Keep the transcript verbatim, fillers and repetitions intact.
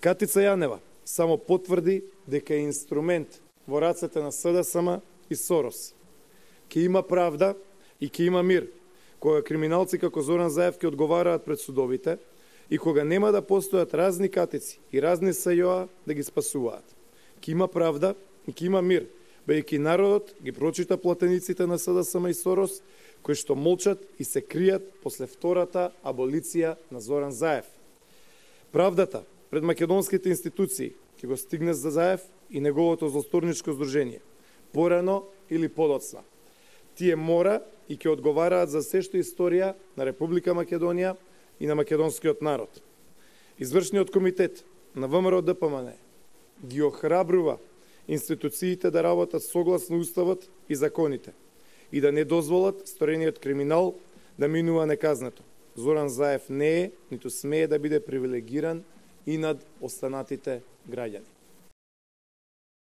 Катица Јанева само потврди дека е инструмент во рацете на СДСМ и Сорос. Ке има правда и ке има мир, кога криминалци како Зоран Заев ќе одговараат пред судовите и кога нема да постојат разни катици и разни СЈО да ги спасуваат. Ке има правда и ке има мир, бејќи народот ги прочита платениците на СДСМ и Сорос, кои што молчат и се кријат после втората аболиција на Зоран Заев. Правдата пред македонските институции ќе го стигне за Заев и неговото злосторничко здружение, порано или подоцна. Тие мора и ќе одговараат за се што историја на Република Македонија и на македонскиот народ. Извршниот комитет на ВМРО Д П М Н ги охрабрува институциите да работат согласно уставот и законите и да не дозволат сторениот криминал да минува неказнето. Зоран Заев не е, ниту смее да биде привилегиран и над останатите граѓани.